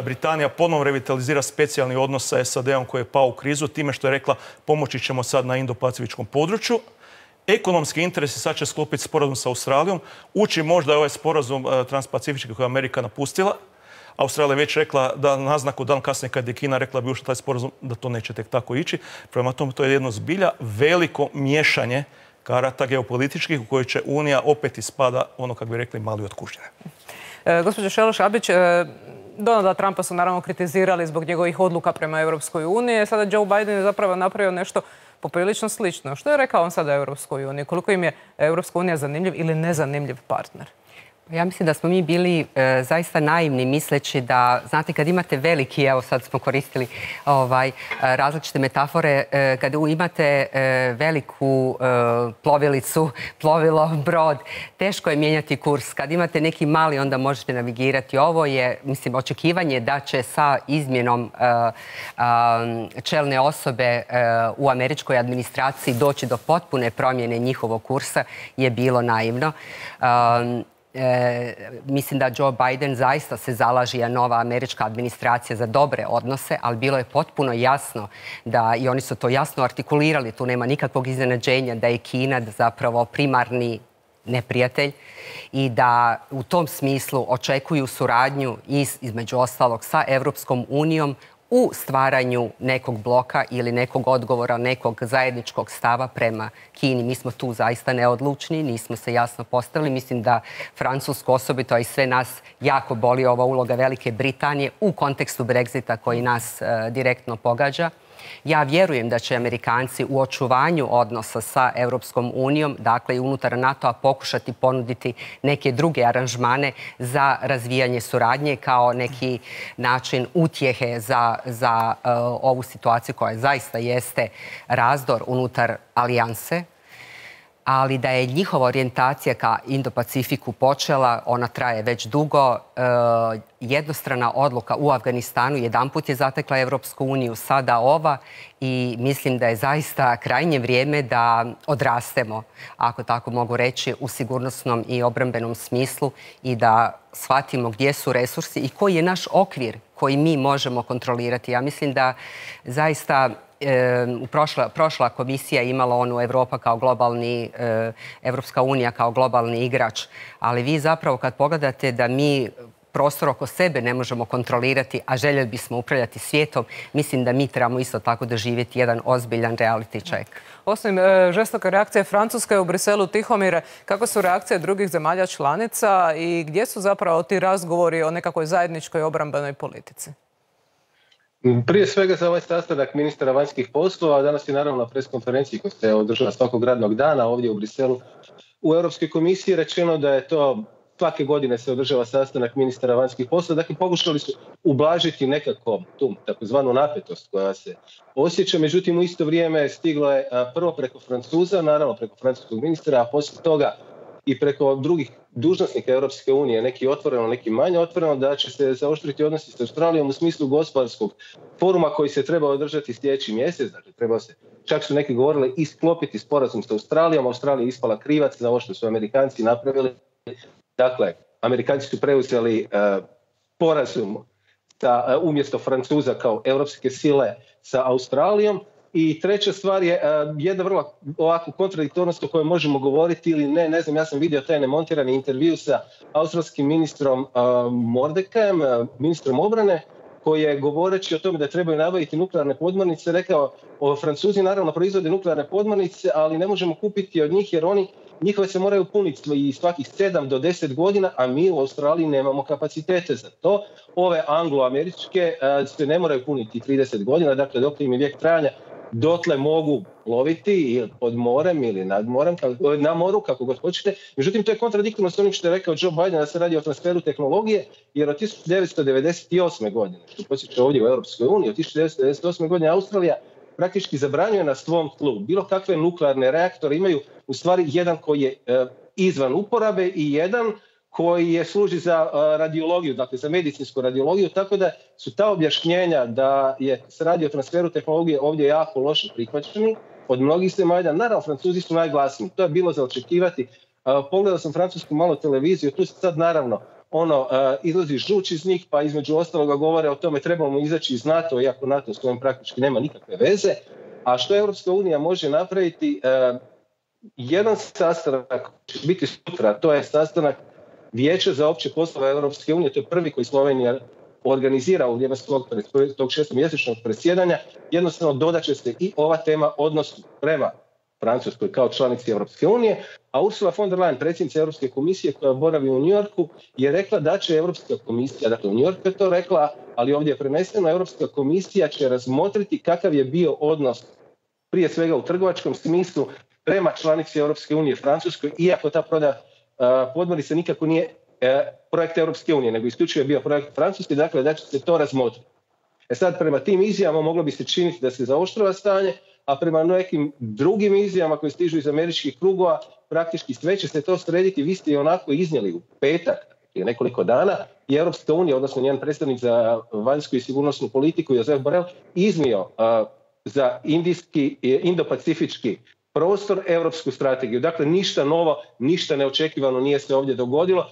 Speaker 3: Britanija ponovno revitalizira specijalni odnos sa SAD-om koji je pao u krizu time što je rekla pomoći ćemo sad na indo-pacifičkom području. Ekonomski interesi sad će sklopiti sporazum sa Australijom. Uči možda ovaj sporazum transpacifički koji je Amerika napustila. Australija je već rekla da naznaku dan kasnije kad je Kina rekla bi ušla taj sporazum da to neće tek tako ići. Prema tome to je jedno zbilja veliko miješanje karata geopolitičkih u kojoj će Unija opet ispada, ono kako bi rekli, mali od kužine.
Speaker 1: Gospođo Šeloš-Abić, Donalda Trumpa su naravno kritizirali zbog njegovih odluka prema Europskoj uniji. Sada Joe Biden je zapravo napravio nešto poprilično slično. Što je rekao on sada Europskoj uniji? Koliko im je Europska unija zanimljiv ili nezanimljiv partner?
Speaker 8: Ja mislim da smo mi bili zaista naivni misleći da, znate, kad imate veliki, evo sad smo koristili različite metafore, kad imate veliku plovilicu, plovilo, brod, teško je mijenjati kurs. Kad imate neki mali, onda možete navigirati. Ovo je, mislim, očekivanje da će sa izmjenom čelne osobe u američkoj administraciji doći do potpune promjene njihovog kursa je bilo naivno. Mislim da Joe Biden zaista se zalaže, a nova američka administracija, za dobre odnose, ali bilo je potpuno jasno da, i oni su to jasno artikulirali, tu nema nikakvog iznenađenja, da je Kina zapravo primarni neprijatelj i da u tom smislu očekuju suradnju između ostalog sa Europskom unijom u stvaranju nekog bloka ili nekog odgovora, nekog zajedničkog stava prema Kini. Mi smo tu zaista neodlučni, nismo se jasno postavili. Mislim da Francusku osobito, a i sve nas, jako boli ova uloga Velike Britanije u kontekstu Brexita koji nas direktno pogađa. Ja vjerujem da će Amerikanci u očuvanju odnosa sa Europskom unijom, dakle i unutar NATO-a, pokušati ponuditi neke druge aranžmane za razvijanje suradnje kao neki način utjehe za ovu situaciju koja zaista jeste razdor unutar alijanse, ali da je njihova orijentacija ka Indo-Pacifiku počela, ona traje već dugo. Jednostrana odluka u Afganistanu jedanput je zatekla Europsku uniju, sada ova, i mislim da je zaista krajnje vrijeme da odrastemo, ako tako mogu reći, u sigurnosnom i obrambenom smislu i da shvatimo gdje su resursi i koji je naš okvir koji mi možemo kontrolirati. Ja mislim da zaista prošla komisija imala onu Europa kao globalni, Evropska unija kao globalni igrač, ali vi zapravo kad pogledate da mi prostor oko sebe ne možemo kontrolirati, a željeli bismo upravljati svijetom, mislim da mi trebamo isto tako doživjeti jedan ozbiljan reality check.
Speaker 1: Osim žestoke reakcije Francuske u Briselu, Tihomire, kako su reakcije drugih zemalja članica i gdje su zapravo ti razgovori o nekakvoj zajedničkoj obrambenoj politici?
Speaker 4: Prije svega za ovaj sastanak ministara vanjskih poslova, danas je naravno na preskonferenciji koja se održava svakog radnog dana ovdje u Briselu u Europskoj komisiji rečeno da je to svake godine se održava sastanak ministara vanjskih poslova. Dakle, pokušali su ublažiti nekako tu takozvanu napetost koja se osjeća. Međutim, u isto vrijeme stiglo je prvo preko Francuza, naravno preko francuskog ministra, a poslije toga i preko drugih dužnosnika Europske unije, neki otvoreno, neki manje otvoreno, da će se zaoštriti odnosi s Australijom u smislu gospodarskog foruma koji se treba održati sljedeći mjesec. Dakle, treba se, čak su neki govorili, i sklopiti sporazum s Australijom. Australija je ispala krivac za ovo što su Amerikanci napravili. Dakle, Amerikanci su preuzeli sporazum umjesto Francuza kao europske sile sa Australijom. I treća stvar je jedna vrlo ovako kontradiktornost o kojoj možemo govoriti ili ne znam, ja sam vidio taj nemontirani intervju sa australskim ministrom Mordekajem, ministrom obrane, koji je govoreći o tome da trebaju nabaviti nuklearne podmornice rekao, Francuzi naravno proizvode nuklearne podmornice, ali ne možemo kupiti od njih jer njihove se moraju puniti svakih 7 do 10 godina, a mi u Australiji nemamo kapacitete za to. Ove anglo-američke se ne moraju puniti 30 godina, dakle dok im je vijek trajanja, dotle mogu loviti ili pod morem ili nad morem, na moru, kako god hoćete. Međutim, to je kontradiktorno s onim što je rekao Joe Biden da se radi o transferu tehnologije, jer od 1998. godine, što posjeća ovdje u Europskoj uniji, od 1998. godine Australija praktički zabranjuje na svom tlu bilo kakve nuklearne reaktore, imaju u stvari jedan koji je izvan uporabe i jedan koji služi za radiologiju, dakle za medicinsku radiologiju, tako da su ta objašnjenja da se radi o transferu tehnologije ovdje jako loše prihvaćeni od mnogih zemalja. Naravno, Francuzi su najglasniji, to je bilo za očekivati. Pogledao sam francusku malo televiziju, tu se sad naravno izlazi žuč iz njih, pa između ostaloga govore o tome trebamo izaći iz NATO, iako NATO s kojim praktički nema nikakve veze. A što Europska unija može napraviti? Jedan sastanak će biti sutra, to je sastanak Vijeća za opće poslove Europske unije, to je prvi koji Slovenija organizira u vrijeme svog tog 6-mjesečnog predsjedanja. Jednostavno dodat će se i ova tema odnosu prema Francuskoj kao članici Europske unije, a Ursula von der Leyen, predsjednica Europske komisije koja boravi u New Yorku, je rekla da će Europska komisija, dakle u New Yorku je to rekla, ali ovdje je preneseno, Europska komisija će razmotriti kakav je bio odnos prije svega u trgovačkom smislu prema članici Europske unije Francuskoj, iako ta prodaja podmornica nikako nije projekt Europske unije, nego isključivo je bio projekt Francuske, dakle da će se to razmotriti. Sad, prema tim izjavama moglo bi se činiti da se zaoštrava stanje, a prema nekim drugim izjavama koje stižu iz američkih krugova, praktički sve će se to srediti. Vi ste i onako iznijeli u petak, prije nekoliko dana, i Europska unija, odnosno njen predstavnik za vanjsku i sigurnosnu politiku, Josep Borrell, iznio za Indo-Pacifički prostor europsku strategiju. Dakle, ništa novo, ništa neočekivano nije se ovdje dogodilo.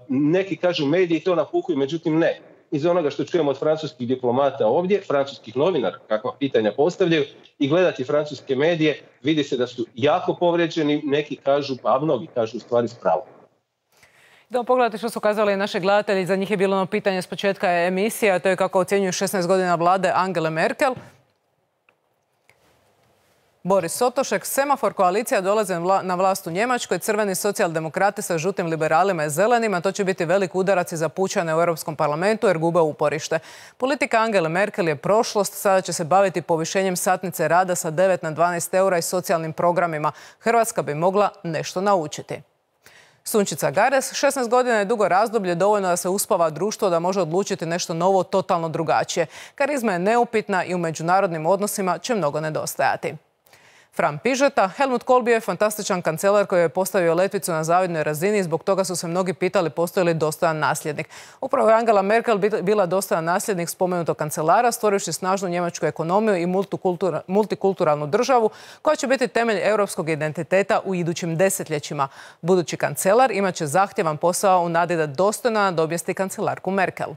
Speaker 4: Neki kažu mediji to napuhuju, međutim ne. Iz onoga što čujemo od francuskih diplomata ovdje, francuskih novinara, kakva pitanja postavljaju, i gledati francuske medije, vidi se da su jako povrijeđeni, neki kažu, a mnogi kažu u stvari s pravom.
Speaker 1: Da pogledate što su kazali naši gledatelji, za njih je bilo ono pitanje s početka emisije, a to je kako ocjenjuju 16 godina vlade Angele Merkel. Boris Sotošek, semafor koalicija dolaze na vlast u Njemačkoj, crveni socijaldemokrati sa žutim liberalima i zelenima. To će biti velik udarac i za pučane u Europskom parlamentu jer gube uporište. Politika Angele Merkel je prošlost, sada će se baviti povišenjem satnice rada sa 9 na 12 eura i socijalnim programima. Hrvatska bi mogla nešto naučiti. Sunčica Gares, 16 godina je dugo razdoblje, dovoljno da se uspava društvo da može odlučiti nešto novo, totalno drugačije. Karizma je neupitna i u međunarodnim odnosima će mnogo nedostajati. Fran Pižeta, Helmut Kohl bio je fantastičan kancelar koji je postavio letvicu na zavidnoj razini i zbog toga su se mnogi pitali postoji li dostojan nasljednik. Upravo je Angela Merkel bila dostojan nasljednik spomenutog kancelara, stvorivši snažnu njemačku ekonomiju i multikulturalnu državu koja će biti temelj europskog identiteta u idućim desetljećima. Budući kancelar imat će zahtjevan posao u nadi da dostojno nadomjesti kancelarku Merkel.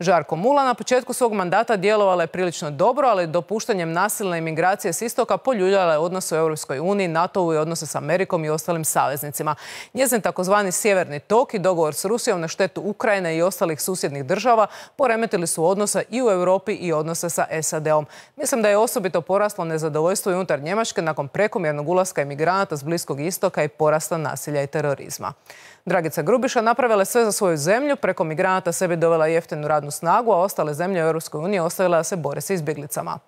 Speaker 1: Žarko Mula na početku svog mandata djelovala je prilično dobro, ali dopuštanjem nasilne imigracije s istoka poljuljala je odnose u Europskoj uniji, NATO-u i odnose s Amerikom i ostalim saveznicima. Njezin takozvani sjeverni tok i dogovor s Rusijom na štetu Ukrajine i ostalih susjednih država poremetili su odnose i u Europi i odnose sa SAD-om. Mislim da je osobito poraslo nezadovoljstvo i unutar Njemačke nakon prekomjernog ulaska imigranata s Bliskog istoka i porasta nasilja i terorizma. Dragica Grubiša napravila je sve za svoju zemlju, preko migranata sebi dovela jeftinu radnu snagu, a ostale zemlje u Europskoj uniji ostavila da se bore s izbjeglicama.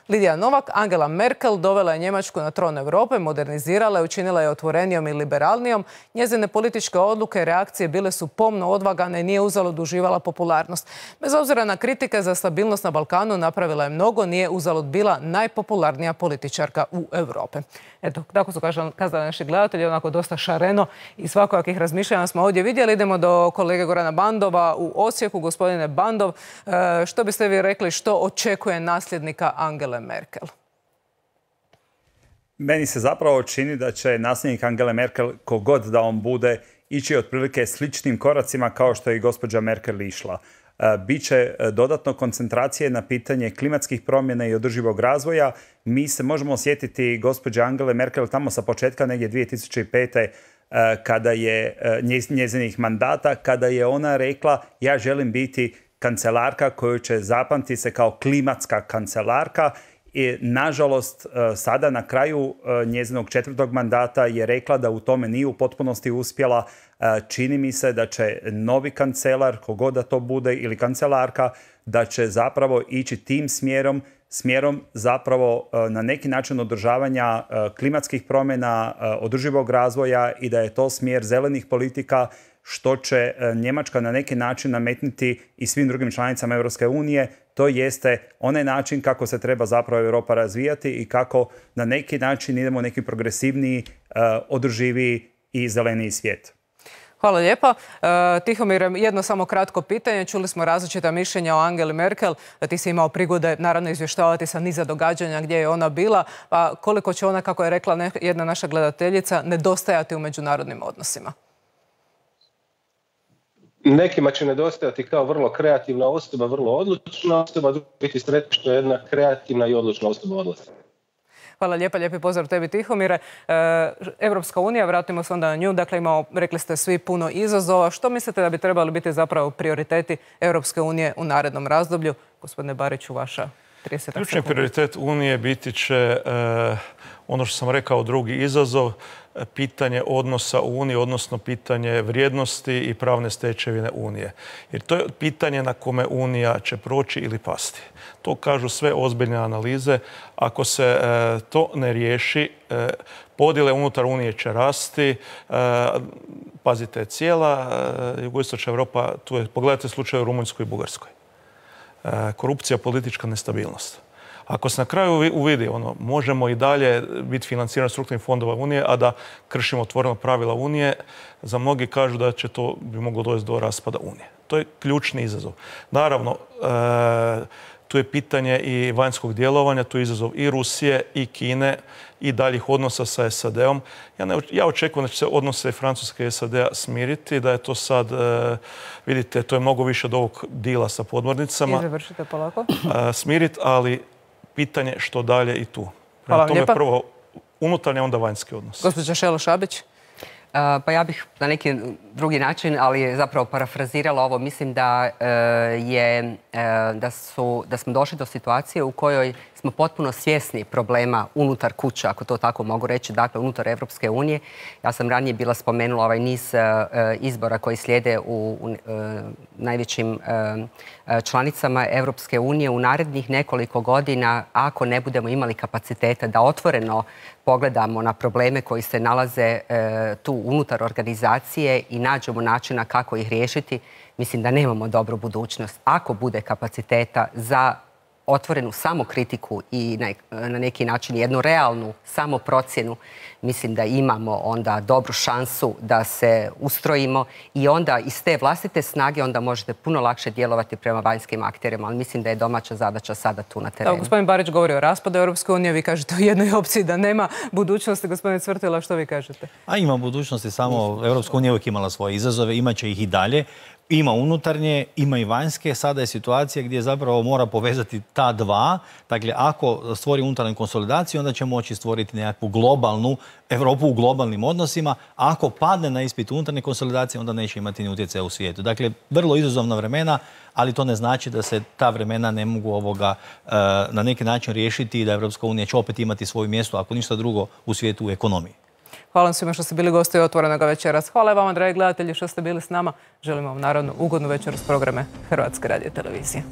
Speaker 1: Lidija Novak, Angela Merkel, dovela je Njemačku na tron Europe, modernizirala je, učinila je otvorenijom i liberalnijom. Njezine političke odluke i reakcije bile su pomno odvagane i nije uzalud uživala popularnost. Bez obzira na kritike za stabilnost na Balkanu, napravila je mnogo, nije uzalud bila najpopularnija političarka u Europi. Eto, tako su kazali naši gledatelji, onako dosta šareno i svakojakih razmišljanja smo ovdje vidjeli. Idemo do kolege Gorana Bandova u Osijeku. Gospodine Bandov, što biste vi rekli, što očekuje nasljednika Angele Merkel?
Speaker 2: Meni se zapravo čini da će nasljednik Angele Merkel, kogod da on bude, ići otprilike sličnim koracima kao što je i gospođa Merkel išla. Biće dodatno koncentracije na pitanje klimatskih promjena i održivog razvoja. Mi se možemo osjetiti gospođe Angele Merkel tamo sa početka negdje 2005. kada je njezinih mandata, kada je ona rekla ja želim biti kancelarka koju će zapamtiti se kao klimatska kancelarka. I, nažalost, sada na kraju njezinog 4. mandata je rekla da u tome nije u potpunosti uspjela. Čini mi se da će novi kancelar, kogod da to bude, ili kancelarka, da će zapravo ići tim smjerom zapravo na neki način održavanja klimatskih promjena, održivog razvoja i da je to smjer zelenih politika, što će Njemačka na neki način nametnuti i svim drugim članicama Europske unije. To jeste onaj način kako se treba zapravo Europa razvijati i kako na neki način idemo u neki progresivniji, održiviji i zeleniji svijet.
Speaker 1: Hvala lijepa. Tihomir, jedno samo kratko pitanje. Čuli smo različita mišljenja o Angeli Merkel. Ti si imao prigode naravno izvještavati sa niza događanja gdje je ona bila. Pa koliko će ona, kako je rekla jedna naša gledateljica, nedostajati u međunarodnim odnosima?
Speaker 4: Nekima će nedostajati kao vrlo kreativna osoba, vrlo odlučna osoba, biti sretni što je jedna kreativna i odlučna osoba odlazi.
Speaker 1: Hvala lijepa, lijepi pozdrav tebi Tihomire. Europska unija, vratimo se onda na nju, dakle imamo, rekli ste svi, puno izazova. Što mislite da bi trebali biti zapravo prioriteti Europske unije u narednom razdoblju? Gospodine Bariću, vaša 30 sekundi.
Speaker 3: Ključni prioritet Unije biti će ono što sam rekao, drugi izazov, pitanje odnosa u Uniji, odnosno pitanje vrijednosti i pravne stečevine Unije. Jer to je pitanje na kome Unija će proći ili pasti. To kažu sve ozbiljne analize. Ako se to ne riješi, podjele unutar Unije će rasti. Pazite, cijela jugoistočna Europa, tu je, pogledajte slučaj u Rumunjskoj i Bugarskoj. Korupcija, politička nestabilnost. Ako se na kraju uvidi, možemo i dalje biti financirani strukturnih fondova Unije, a da kršimo otvoreno pravila Unije, za mnogi kažu da će to bi moglo dovesti do raspada Unije. To je ključni izazov. Naravno, tu je pitanje i vanjskog djelovanja, tu je izazov i Rusije i Kine i daljih odnosa sa SAD-om. Ja očekujem da će se odnose Francuske i SAD-a smiriti, da je to sad, vidite, to je mnogo više od ovog dila sa podmornicama.
Speaker 1: I završite polako.
Speaker 3: Smiriti, ali pitanje što dalje i tu.
Speaker 1: Hvala vam lijepa.
Speaker 3: Prvo unutarnje, onda vanjski odnos.
Speaker 1: Gospođa Šelo Šabić.
Speaker 8: Pa ja bih na neki drugi način, ali zapravo parafrazirala ovo. Mislim da smo došli do situacije u kojoj smo smo potpuno svjesni problema unutar kuće, ako to tako mogu reći, dakle unutar Evropske unije. Ja sam ranije bila spomenula ovaj niz izbora koji slijede u najvećim članicama Evropske unije. U narednih nekoliko godina, ako ne budemo imali kapaciteta da otvoreno pogledamo na probleme koji se nalaze tu unutar organizacije i nađemo načina kako ih riješiti, mislim da nemamo dobru budućnost. Ako bude kapaciteta za otvorenu samokritiku i na neki način jednu realnu samoprocjenu, mislim da imamo onda dobru šansu da se ustrojimo i onda iz te vlastite snage onda možete puno lakše djelovati prema vanjskim akterima, ali mislim da je domaća zadaća sada tu na terenu.
Speaker 1: Gospodin Barić govori o raspadu Europske unije, vi kažete o jednoj opciji da nema budućnosti. Gospodin Cvrtila, što vi kažete?
Speaker 9: A ima budućnosti, samo Europska unija uvijek imala svoje izazove, imaće ih i dalje. Ima unutarnje, ima i vanjske. Sada je situacija gdje zapravo mora povezati ta dva. Dakle, ako stvori unutarnju konsolidaciju, onda će moći stvoriti nekakvu globalnu Europu u globalnim odnosima. Ako padne na ispit unutarnje konsolidacije, onda neće imati ni utjecaja u svijetu. Dakle, vrlo izazovna vremena, ali to ne znači da se ta vremena ne mogu na neki način riješiti i da Europska unija će opet imati svoje mjesto, ako ništa drugo, u svijetu u ekonomiji.
Speaker 1: Hvala vam svima što ste bili gosti Otvorenoga večeras. Hvala vama, dragi gledatelji, što ste bili s nama. Želimo vam naravno ugodnu večeru s programe Hrvatske radiotelevizije.